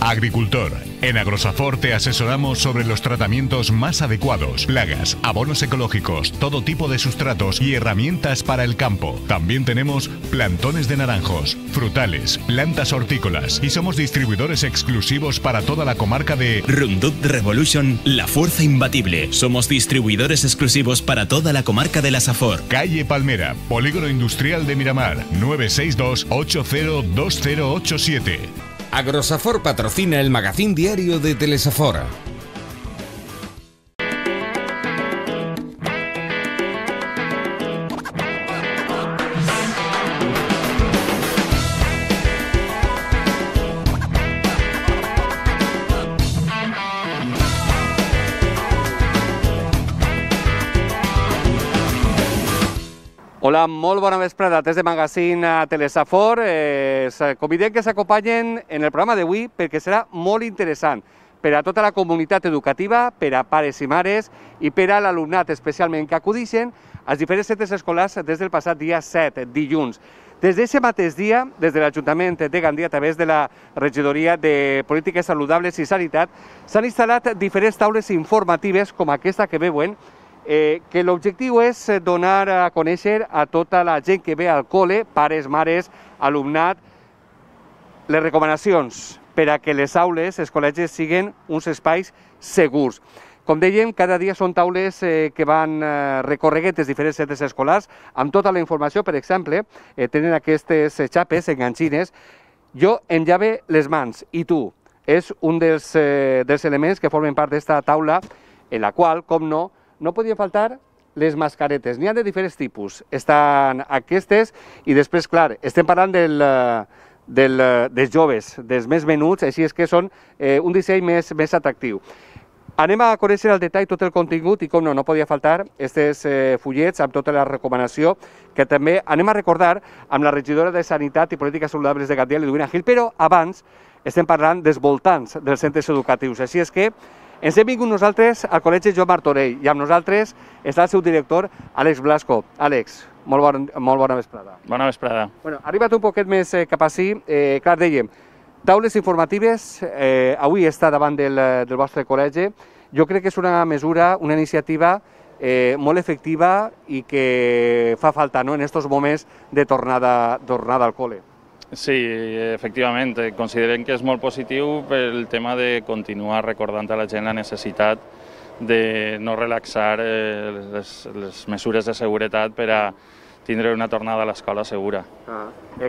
Agricultor. En Agrosafor te asesoramos sobre los tratamientos más adecuados, plagas, abonos ecológicos, todo tipo de sustratos y herramientas para el campo. También tenemos plantones de naranjos, frutales, plantas hortícolas y somos distribuidores exclusivos para toda la comarca de Roundup Revolution, la fuerza imbatible. Somos distribuidores exclusivos para toda la comarca de la Safor. Calle Palmera, Polígono Industrial de Miramar, 962 802087. Agrosafor patrocina el magazín diario de Telesafor. Hola, molt bona vesprada des de Magazín a Telesafor. Convidem que s'acompanyen en el programa d'avui perquè serà molt interessant per a tota la comunitat educativa, per a pares i mares i per a l'alumnat especialment que acudixen als diferents centres escolars des del passat dia 7, dilluns. Des d'aquest mateix dia, des de l'Ajuntament de Gandia, a través de la Regidoria de Polítiques Saludables i Sanitat, s'han instal·lat diferents taules informatives com aquesta que veuen, que l'objectiu és donar a conèixer a tota la gent que ve al col·le, pares, mares, alumnat, les recomanacions per a que les aules, els col·legis, siguin uns espais segurs. Com dèiem, cada dia són taules que van recorreguent els diferents centres escolars amb tota la informació. Per exemple, tenen aquestes xapes enganxines. Jo em llave les mans i tu. És un dels elements que formen part d'esta taula en la qual, com no podien faltar les mascaretes. N'hi ha de diferents tipus. Estan aquestes i després, clar, estem parlant dels joves, dels més menuts, així és que són un disseny més atractiu. Anem a conèixer al detall tot el contingut i, com no podia faltar, aquests fullets amb tota la recomanació que també anem a recordar amb la regidora de Sanitat i Polítiques Saludables de Gandia, Liduvina Gil, però abans estem parlant dels voltants dels centres educatius. Així és que ens hem vingut nosaltres al Col·legi Joan Martorell i amb nosaltres està el seu director, Àlex Blasco. Àlex, molt bona vesprada. Bona vesprada. Bueno, arriba't un poquet més cap ací. Clar, dèiem, taules informatives, avui està davant del vostre col·legi. Jo crec que és una mesura, una iniciativa molt efectiva i que fa falta en aquests moments de tornada al col·le. Sí, efectivament, considerem que és molt positiu pel tema de continuar recordant a la gent la necessitat de no relaxar les mesures de seguretat per a tindre una tornada a l'escola segura.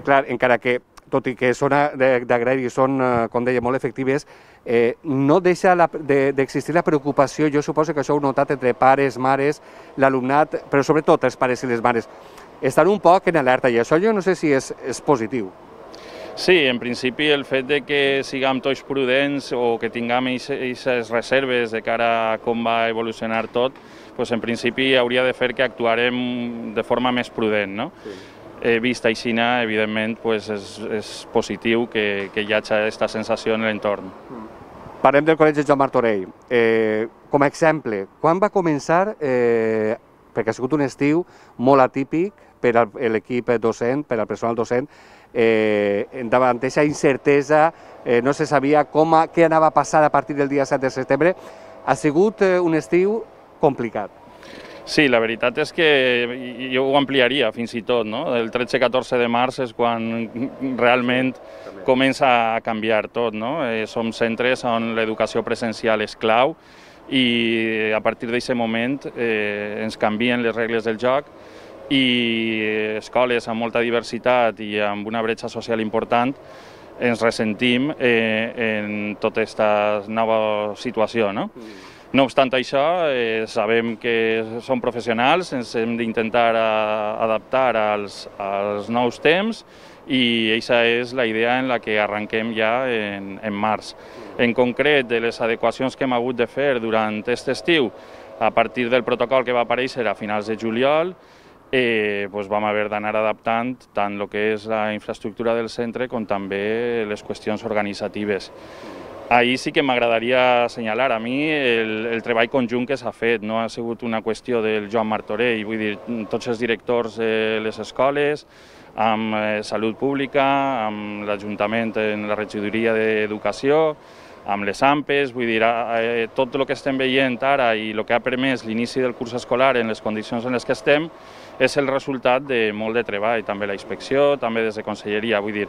Clar, encara que, tot i que són d'agrair i són, com deia, molt efectives, no deixa d'existir la preocupació, jo suposo que això ho heu notat entre pares, mares, l'alumnat, però sobretot els pares i les mares. Estan un poc en alerta i això jo no sé si és positiu. Sí, en principi el fet de que siguem tots prudents o que tinguem aquestes reserves de cara a com va evolucionar tot, en principi hauria de fer que actuarem de forma més prudent, no? Vist així, evidentment, és positiu que hi hagi aquesta sensació en l'entorn. Parlem del Col·legi Joan Martorell. Com a exemple, quan va començar, perquè ha sigut un estiu molt atípic per a l'equip docent, per al personal docent, davant d'aquesta incertesa, no se sabia què anava a passar a partir del dia 7 de setembre, ha sigut un estiu complicat. Sí, la veritat és que jo ho ampliaria fins i tot, no? El 13-14 de març és quan realment comença a canviar tot, no? Som centres on l'educació presencial és clau i a partir d'aquest moment ens canvien les regles del joc i escoles amb molta diversitat i amb una bretxa social important ens ressentim en tota aquesta nova situació, no? No obstant això, sabem que som professionals, ens hem d'intentar adaptar als nous temps i aquesta és la idea en la que arrenquem ja en març. En concret, de les adequacions que hem hagut de fer durant aquest estiu, a partir del protocol que va aparèixer a finals de juliol, vam haver d'anar adaptant tant el que és la infraestructura del centre com també les qüestions organitzatives. Ahir sí que m'agradaria assenyalar a mi el treball conjunt que s'ha fet, no ha sigut una qüestió del Joan Martorell, vull dir, tots els directors de les escoles, amb Salut Pública, amb l'Ajuntament en la regidoria d'Educació, amb les AMPEs, vull dir, tot el que estem veient ara i el que ha permès l'inici del curs escolar en les condicions en les que estem és el resultat de molt de treball, també la inspecció, també des de Conselleria, vull dir,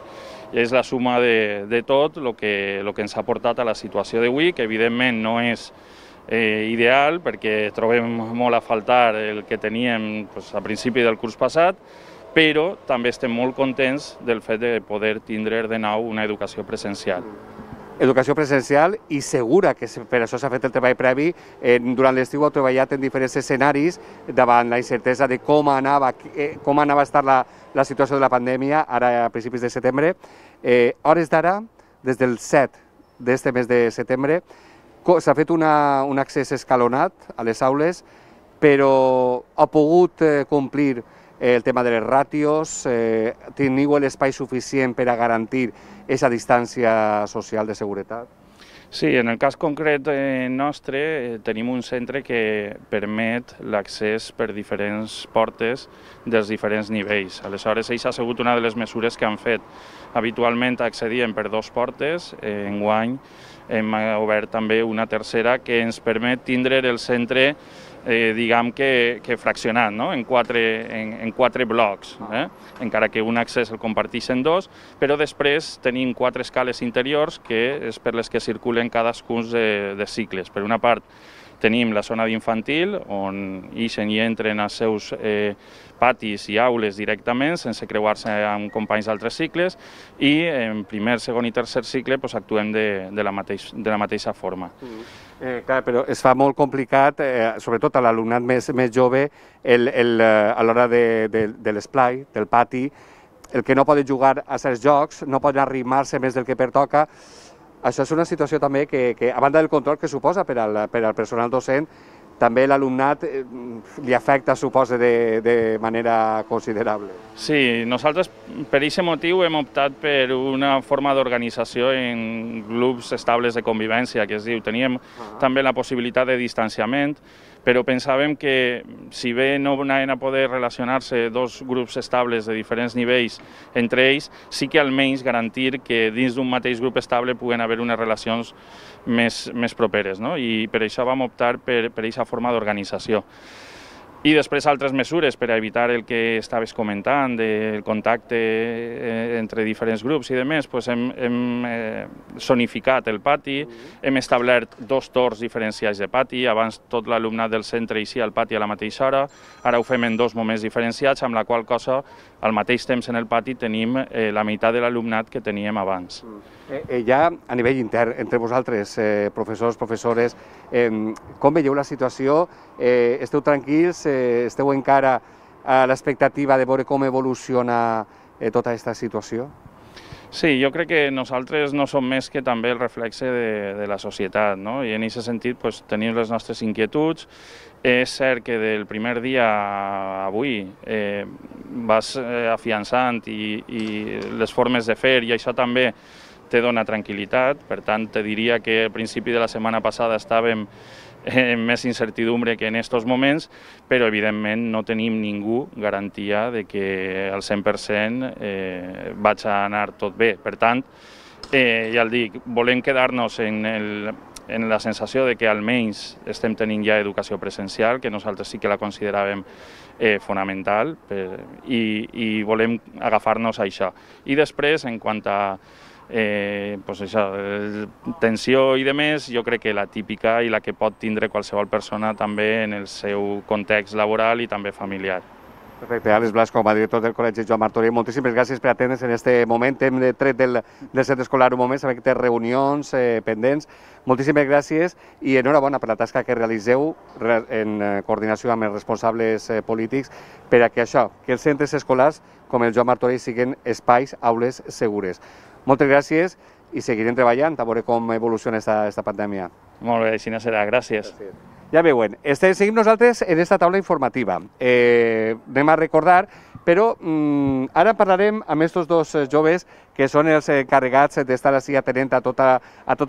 és la suma de tot el que ens ha portat a la situació d'avui, que evidentment no és ideal perquè trobem molt a faltar el que teníem a principi del curs passat, però també estem molt contents del fet de poder tindre de nou una educació presencial. Educació presencial i segura, que per això s'ha fet el treball previ. Durant l'estiu heu treballat en diferents escenaris davant la incertesa de com anava a estar la situació de la pandèmia, ara a principis de setembre. Hores d'ara, des del 7 d'este mes de setembre, s'ha fet un accés escalonat a les aules, però ha pogut complir el tema de les ràtios, teniu l'espai suficient per a garantir aquesta distància social de seguretat? Sí, en el cas concret nostre tenim un centre que permet l'accés per diferents portes dels diferents nivells. Aleshores, això ha sigut una de les mesures que han fet. Habitualment accedíem per 2 portes, enguany hem obert també una tercera que ens permet tindre el centre diguem que fraccionat, en 4 blocs, encara que un accés el comparteixen 2, però després tenim 4 escales interiors que és per les que circulen cadascun de cicles. Per una part tenim la zona d'infantil, on ixen i entren als seus patis i aules directament, sense creuar-se amb companys d'altres cicles, i en primer, segon i tercer cicle actuem de la mateixa forma. Clar, però es fa molt complicat, sobretot a l'alumnat més jove, a l'hora de l'esplai, del pati, el que no pot jugar a certs jocs, no pot arrimar-se més del que pertoca. Això és una situació també que, a banda del control que suposa per al personal docent, també l'alumnat li afecta, suposa, de manera considerable. Sí, nosaltres per aquest motiu hem optat per una forma d'organització en grups estables de convivència, que es diu. Teníem també la possibilitat de distanciament, però pensàvem que si bé no anaven a poder relacionar-se 2 grups estables de diferents nivells entre ells, sí que almenys garantir que dins d'un mateix grup estable puguen haver unes relacions més properes, i per això vam optar per aquesta forma d'organització. I després altres mesures per a evitar el que estaves comentant, del contacte entre diferents grups i demés, hem zonificat el pati, hem establert 2 torns diferenciats de pati, abans tot l'alumnat del centre eixia al pati a la mateixa hora, ara ho fem en 2 moments diferenciats, amb la qual cosa al mateix temps en el pati tenim la meitat de l'alumnat que teníem abans. Ja a nivell intern, entre vosaltres, professors, professores, com veieu la situació? Esteu tranquils? Esteu encara a l'expectativa de veure com evoluciona tota aquesta situació? Sí, jo crec que nosaltres no som més que també el reflexe de la societat, i en aquest sentit tenim les nostres inquietuds. És cert que del primer dia a avui vas afiançant i les formes de fer, i això també te dona tranquil·litat. Per tant, te diria que al principi de la setmana passada estàvem amb més incertidumbre que en aquests moments, però evidentment no tenim ningú garantia de que al 100% vaig a anar tot bé. Per tant, ja el dic, volem quedar-nos en la sensació de que almenys estem tenint ja educació presencial, que nosaltres sí que la consideràvem fonamental, i volem agafar-nos a això. I després, en quant a tensió i demés, jo crec que la típica i la que pot tindre qualsevol persona també en el seu context laboral i també familiar. Perfecte. Àlex Blas, com a director del Col·legi Joan Martorell, moltíssimes gràcies per atendre'ns en aquest moment. Hem tret del centre escolar un moment, sabem que té reunions pendents. Moltíssimes gràcies i enhorabona per la tasca que realitzeu en coordinació amb els responsables polítics per a que això, que els centres escolars com el Joan Martorell siguin espais, aules segures. Moltes gràcies i seguirem treballant a veure com evoluciona aquesta pandèmia. Molt bé, així serà. Gràcies. Ja veuen, seguim nosaltres en aquesta taula informativa. Anem a recordar, però ara parlarem amb aquests 2 joves que són els encarregats d'estar així atenent a tota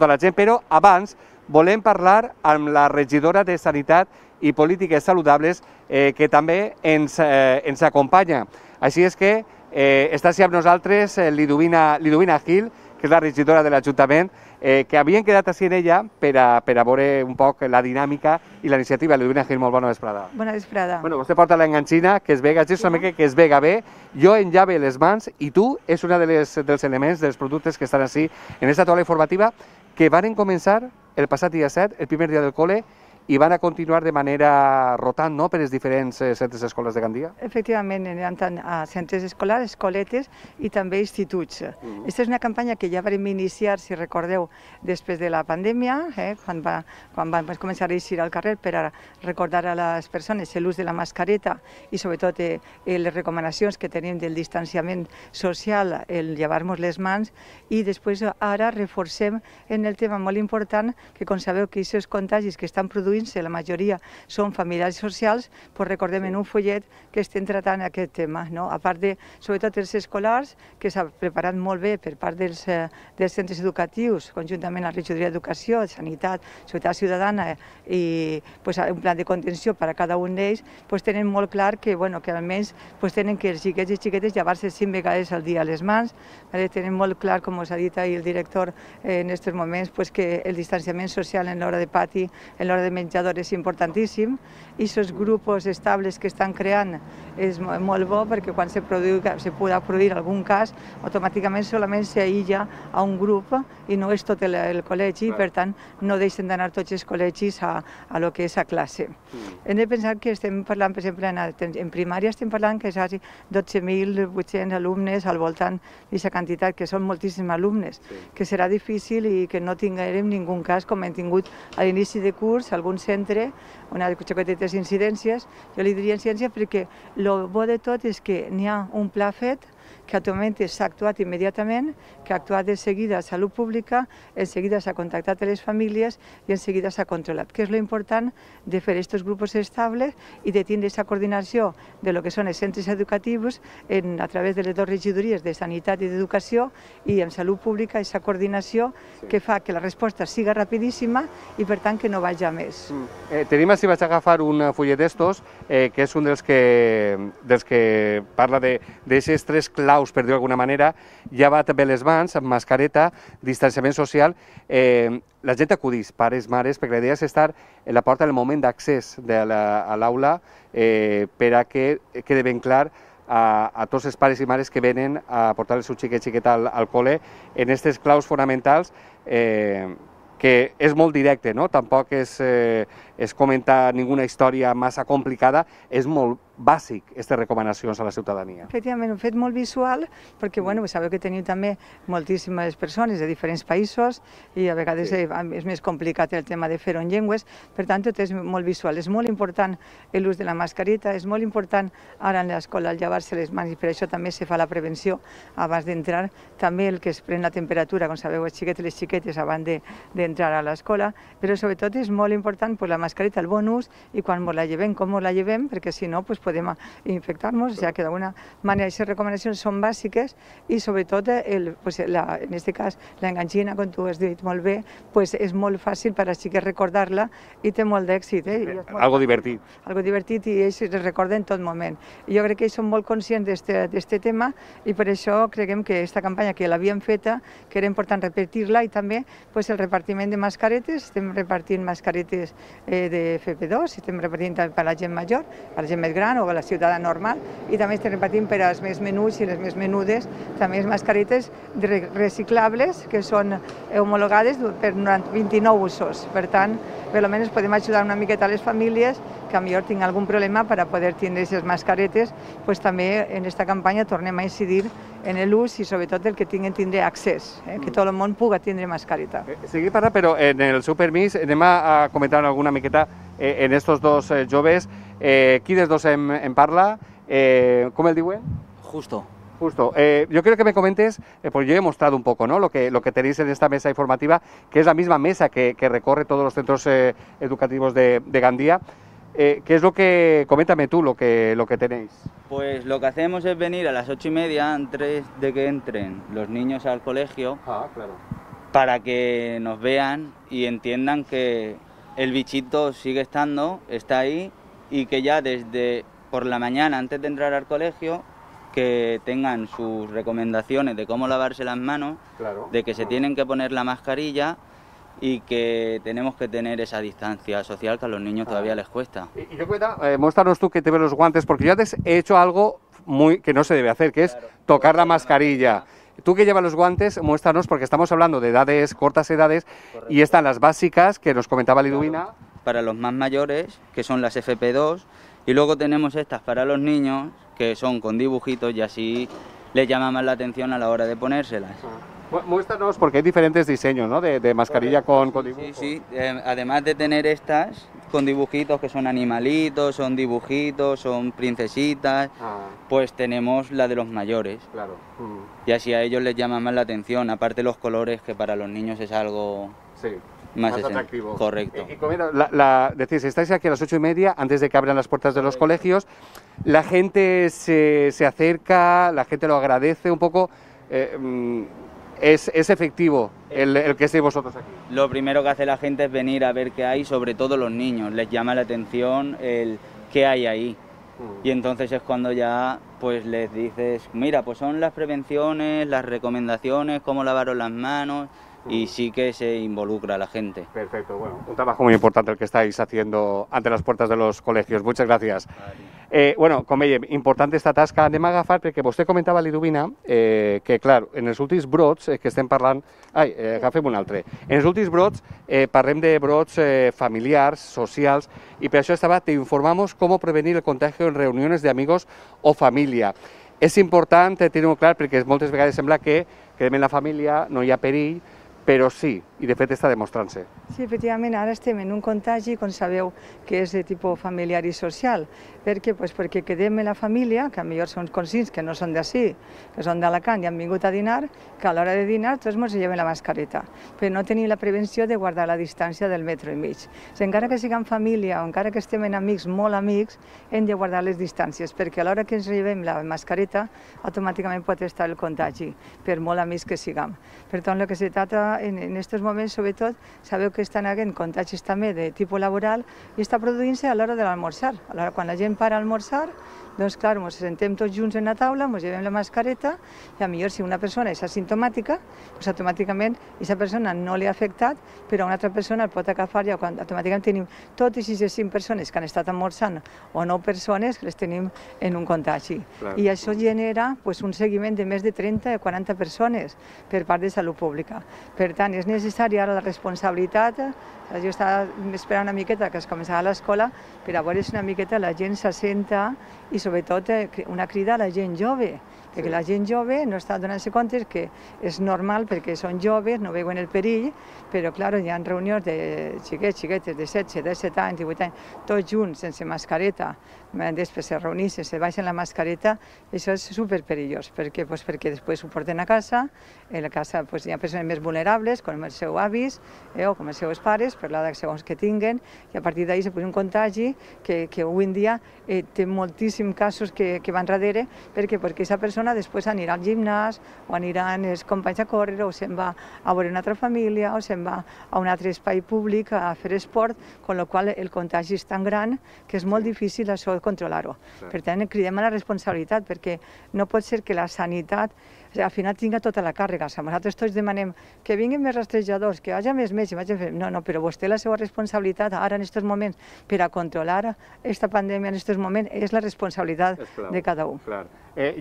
la gent, però abans volem parlar amb la regidora de Sanitat i Polítiques Saludables que també ens acompanya. Així és que Està així amb nosaltres Liduvina Gil, que és la regidora de l'Ajuntament, que havien quedat així en ella per a veure un poc la dinàmica i la iniciativa. Liduvina Gil, molt bona vesprada. Bona vesprada. Bueno, vostè porta l'enganxina, que es vega, és una mica que es vega bé, jo enllave les mans i tu és un dels elements, dels productes que estan així en aquesta taula informativa que van començar el passat dia 7, el primer dia del col·le, i van a continuar de manera rotant, no?, per els diferents centres escolars de Gandia? Efectivament, aniran tant a centres escolars, escoletes i també instituts. Aquesta és una campanya que ja vam iniciar, si recordeu, després de la pandèmia, quan vam començar a eixir al carrer per a recordar a les persones l'ús de la mascareta i sobretot les recomanacions que tenim del distanciament social, el llevar-nos les mans, i després ara reforcem en el tema molt important que, com sabeu, que aquests contagis que estan produint, la majoria són familiars socials, doncs recordem en un follet que estem tratant aquest tema, no? A part de, sobretot, els escolars, que s'ha preparat molt bé per part dels centres educatius, conjuntament amb la regidoria d'Educació, Sanitat, Seguretat Ciutadana i un pla de contenció per a cada un d'ells, tenen molt clar que almenys tenen que els xiquets i xiquetes llevar-se 5 vegades al dia a les mans, tenen molt clar, com us ha dit ahir el director en aquests moments, que el distanciament social en l'hora de pati, en l'hora de menjador és importantíssim, i aquests grups estables que estan creant és molt bo perquè quan se pugui produir algun cas, automàticament solament s'aïlla a un grup i no és tot el col·legi, i per tant no deixen d'anar tots els col·legis a lo que és a classe. Hem de pensar que estem parlant, per exemple, en primària estem parlant que és 12.800 alumnes al voltant d'aquesta quantitat, que són moltíssims alumnes, que serà difícil i que no tinguem ningú cas com hem tingut a l'inici de curs, algun centre, una xoquetetes incidències. Jo li diria incidència perquè el bo de tot és que n'hi ha un pla fet, que actualment s'ha actuat immediatament, que ha actuat de seguida a Salut Pública, en seguida s'ha contactat a les famílies i en seguida s'ha controlat, que és l'important de fer aquests grups estables i de tindre aquesta coordinació de lo que són els centres educatius a través de les dues regidories de Sanitat i d'Educació i en Salut Pública, aquesta coordinació que fa que la resposta siga rapidíssima i per tant que no vagi a més. Tenim així, vaig agafar un fullet d'estos, que és un dels que parla d'aixes 3 claus, per dir-ho d'alguna manera, llevar també les mans, amb mascareta, distanciament social. La gent acudís, pares, mares, perquè la idea és estar a la porta en el moment d'accés a l'aula per a que quede ben clar a tots els pares i mares que venen a portar el seu xiquet al col·le en aquestes claus fonamentals, que és molt directe, no? Tampoc és comentar ninguna història massa complicada, és molt bàsic, aquestes recomanacions a la ciutadania. Efectivament, ho hem fet molt visual, perquè sabeu que teniu també moltíssimes persones de diferents països i a vegades és més complicat el tema de fer-ho en llengües, per tant tot és molt visual. És molt important l'ús de la mascareta, és molt important ara en l'escola el llevar-se les mans i per això també se fa la prevenció abans d'entrar, també el que es pren la temperatura, com sabeu, els xiquets i les xiquetes abans d'entrar a l'escola, però sobretot és molt important la mascareta, el bon ús, i quan la llevem, com la llevem, perquè si no podem infectar-nos, ja que d'alguna manera aquestes recomanacions són bàsiques i sobretot, en aquest cas, l'enganxina, com tu has dit molt bé, és molt fàcil per als xiquets recordar-la i té molt d'èxit. Algo divertit. Algo divertit i ells es recorden en tot moment. Jo crec que ells són molt conscients d'aquest tema i per això creiem que aquesta campanya que l'havíem feta, que era important repetir-la, i també el repartiment de mascaretes, estem repartint mascaretes de FP2, estem repartint per a la gent major, per a la gent més gran o a la ciutadana normal, i també estem repartint per als més menuts i les més menudes també mascaretes reciclables que són homologades per 29 usos. Per tant, almenys podem ajudar una miqueta a les famílies que potser tinguin algun problema per a poder tindre aquestes mascaretes. També en aquesta campanya tornem a incidir en l'ús i sobretot el que tinguin tindre accés, que tot el món pugui tindre mascareta. Seguim parlant, però en el seu permís anem a comentar alguna miqueta en estos dos joves. Qui dels dos en parla? ¿Cómo el diuen? Justo. Justo. Yo quiero que me comentes, porque yo he mostrado un poco, ¿no?, lo que tenéis en esta mesa informativa, que es la misma mesa que recorre todos los centros educativos de Gandía. ¿Qué es lo que, coméntame tú, lo que tenéis? Pues lo que hacemos es venir a las 8:30 antes de que entren los niños al colegio, para que nos vean y entiendan que el bichito sigue estando, está ahí, y que ya desde por la mañana, antes de entrar al colegio, que tengan sus recomendaciones de cómo lavarse las manos, de que se tienen que poner la mascarilla y que tenemos que tener esa distancia social que a los niños todavía les cuesta. Y yo cuenta, muéstranos tú que te ves los guantes, porque yo antes he hecho algo que no se debe hacer, que es tocar la mascarilla. Tú que llevas los guantes, muéstranos, porque estamos hablando de edades, cortas edades, y están las básicas, que nos comentaba Liduvina. Para los más mayores, que son las FP2, y luego tenemos estas para los niños, que son con dibujitos y así les llama más la atención a la hora de ponérselas. Muéstranos, porque hay diferentes diseños, ¿no?, de mascarilla con dibujos. Sí, además de tener estas con dibujitos que son animalitos, son dibujitos, son princesitas, pues tenemos la de los mayores. Claro. Y así a ellos les llama más la atención, aparte los colores, que para los niños es algo más atractivo. Correcto. Y como decís, estáis aquí a las 8:30, antes de que abran las puertas de los colegios, la gente se acerca, la gente lo agradece un poco. ¿Es efectivo el que estéis vosotros aquí? Lo primero que hace la gente es venir a ver qué hay, sobre todo los niños. Les llama la atención el qué hay ahí. Y entonces es cuando ya pues les dices, mira, pues son las prevenciones, las recomendaciones, cómo lavaros las manos, y sí que se involucra la gente. Perfecto, bueno, un trabajo muy importante el que estáis haciendo ante las puertas de los colegios. Muchas gracias. Bueno, com veiem, important esta tasca. Anem a agafar, perquè vostè comentava, Liduvina, que, clar, en els últims brots que estem parlant... agafem un altre. En els últims brots parlem de brots familiars, socials, i per això te informamos cómo prevenir el contagio en reuniones de amigos o familia. És important tenir-ho clar, perquè moltes vegades sembla que quedem en la família, no hi ha perill, però sí, i de fet està demostrant-se. Sí, efectivament, ara estem en un contagi, com sabeu, que és de tipus familiar i social. Per què? Pues perquè quedem en la família, que potser són conscients que no són d'ací, que són d'Alacant i han vingut a dinar, que a l'hora de dinar tots ens llevem la mascareta, però no tenim la prevenció de guardar la distància del metro i mig. Encara que siguem família o encara que estem en amics, molt amics, hem de guardar les distàncies, perquè a l'hora que ens llevem la mascareta, automàticament pot estar el contagi, per molt amics que siguem. Per tant, el que se trata en aquests moments, sobretot, sabeu que estan havent contagis també de tipus laboral i està produint-se a l'hora de l'almorzar. Quan la gent para a almorzar, doncs clar, ens sentem tots junts en la taula, ens llevem la mascareta i a millor si una persona és asimptomàtica, doncs automàticament aquesta persona no li ha afectat, però una altra persona el pot agafar i automàticament tenim totes les 5 persones que han estat almorzant o 9 persones que les tenim en un contagi. I això genera un seguiment de més de 30 o 40 persones per part de Salut Pública. Per tant, és necessari ara la responsabilitat. Jo estava esperant una miqueta que es començava a l'escola per a veure si una miqueta la gent s'assenta i sobretot una crida a la gent jove, perquè la gent jove no està donant-se compte que és normal perquè són joves, no veuen el perill, però clar, hi ha reunions de xiquetes de 16, 17 anys, 18 anys, tots junts, sense mascareta, després se reuneixen, se baixen la mascareta, això és superperillós, perquè després ho porten a casa, a la casa hi ha persones més vulnerables, com els seus avis o com els seus pares, per l'edat segons que tinguen, i a partir d'ahir se produeix un contagi que avui en dia té moltíssims casos que van darrere, perquè aquesta persona després anirà al gimnàs o aniran els companys a córrer o se'n va a veure una altra família o se'n va a un altre espai públic a fer esport, amb la qual el contagi és tan gran que és molt difícil això controlar-ho. Per tant, cridem a la responsabilitat perquè no pot ser que la sanitat al final tinga tota la càrrega. Nosaltres tots demanem que vinguin més rastrejadors, que hi hagi més metges. No, però vostè la seva responsabilitat ara en aquests moments per a controlar aquesta pandèmia en aquests moments és la responsabilitat de cada un.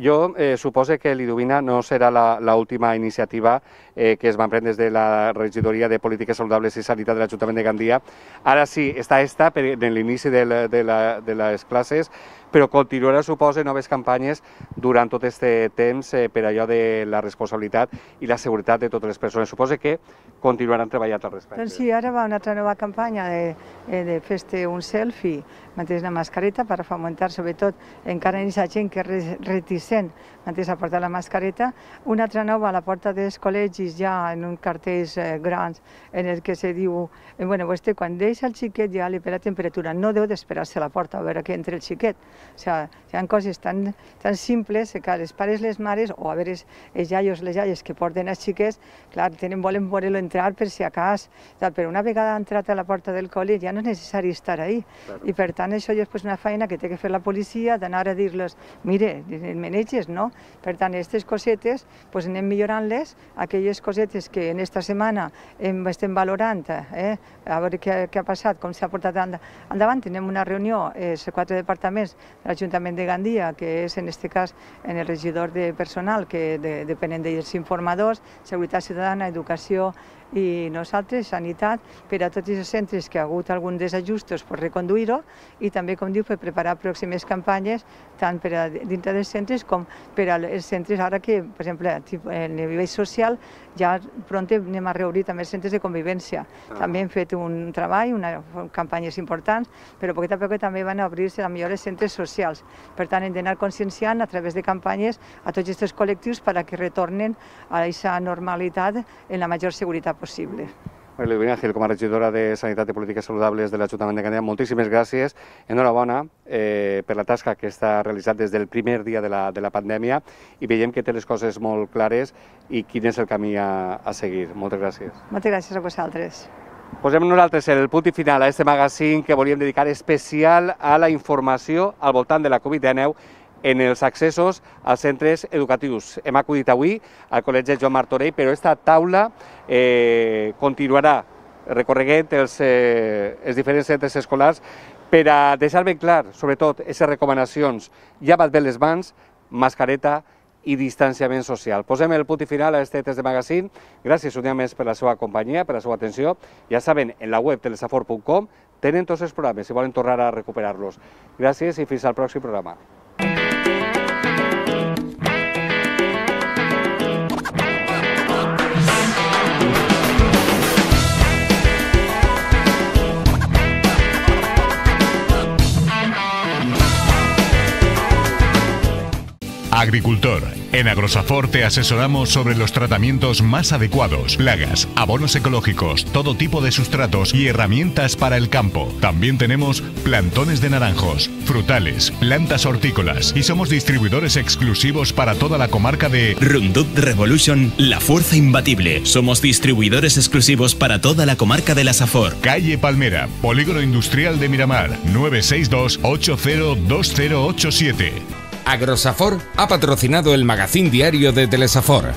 Jo suposo que Liduvina no serà l'última iniciativa que es va prendre des de la Regidoria de Polítiques Saludables i Sanitat de l'Ajuntament de Gandia. Ara sí, està en l'inici de les classes, però continuarà, suposa, noves campanyes durant tot aquest temps per allò de la responsabilitat i la seguretat de totes les persones. Suposa que continuaran treballant al respecte. Doncs sí, ara va una altra nova campanya de fer-te un selfie, mantenir la mascareta per fomentar, sobretot, encara en aquesta gent que és reticent a portar la mascareta. Una altra nova a la porta dels col·legis vegis ja en un cartells grans en el que se diu, bueno, vostè quan deixa el xiquet ja li ve la temperatura, no deu d'esperar-se a la porta a veure que entre el xiquet. O sigui, hi ha coses tan simples que els pares, les mares, o a veure els iaios, les iaies que porten els xiquets, clar, volen veure-lo entrar per si a cas, però una vegada entrat a la porta del col·le ja no és necessari estar ahí. I per tant això ja és una feina que té que fer la policia, d'anar a dir-los, mire, meneges, no? Per tant, aquestes cosetes anem millorant-les, aquelles cosetes que en esta setmana estem valorant, a veure què ha passat, com s'ha portat endavant. Tenim una reunió, els 4 departaments de l'Ajuntament de Gandia, que és en aquest cas en el regidor de personal, que depenen dels informadors, seguretat ciutadana, educació i nosaltres, sanitat, per a tots els centres que ha hagut algun desajustos per reconduir-ho i també, com diu, per preparar pròximes campanyes tant per a dintre dels centres com per als centres ara que, per exemple, a nivell social ja pront anem a reobrir també els centres de convivència. També hem fet un treball, campanyes importants, però poquet a poc també van a obrir-se millor els centres socials. Per tant, hem d'anar conscienciant a través de campanyes a tots aquests col·lectius perquè retornen a aquesta normalitat en la major seguretat possible. Ludmila Gil, com a regidora de Sanitat i Polítiques Saludables de l'Ajuntament de Gandia, moltíssimes gràcies. Enhorabona per la tasca que està realitzat des del primer dia de la pandèmia i veiem que té les coses molt clares i quin és el camí a seguir. Moltes gràcies. Moltes gràcies a vosaltres. Posem nosaltres el punt i final a aquest magazín que volíem dedicar especial a la informació al voltant de la Covid-19 en els accessos als centres educatius. Hem acudit avui al Col·legi Joan Martorell, però aquesta taula continuarà recorreguent els diferents centres escolars per a deixar ben clar, sobretot, aquestes recomanacions. Lava't bé les mans, mascareta i distanciament social. Posem el punt i final a aquest test de magazín. Gràcies un dia més per la seva companyia, per la seva atenció. Ja saben, en la web telesafor.com tenen tots els programes si volen tornar a recuperar-los. Gràcies i fins al pròxim programa. Agricultor. En Agrosafor te asesoramos sobre los tratamientos más adecuados, plagas, abonos ecológicos, todo tipo de sustratos y herramientas para el campo. También tenemos plantones de naranjos, frutales, plantas hortícolas y somos distribuidores exclusivos para toda la comarca de Roundup Revolution, la fuerza imbatible. Somos distribuidores exclusivos para toda la comarca de la Safor. Calle Palmera, Polígono Industrial de Miramar, 962 802087. Agrosafor ha patrocinado el magazín diario de Telesafor.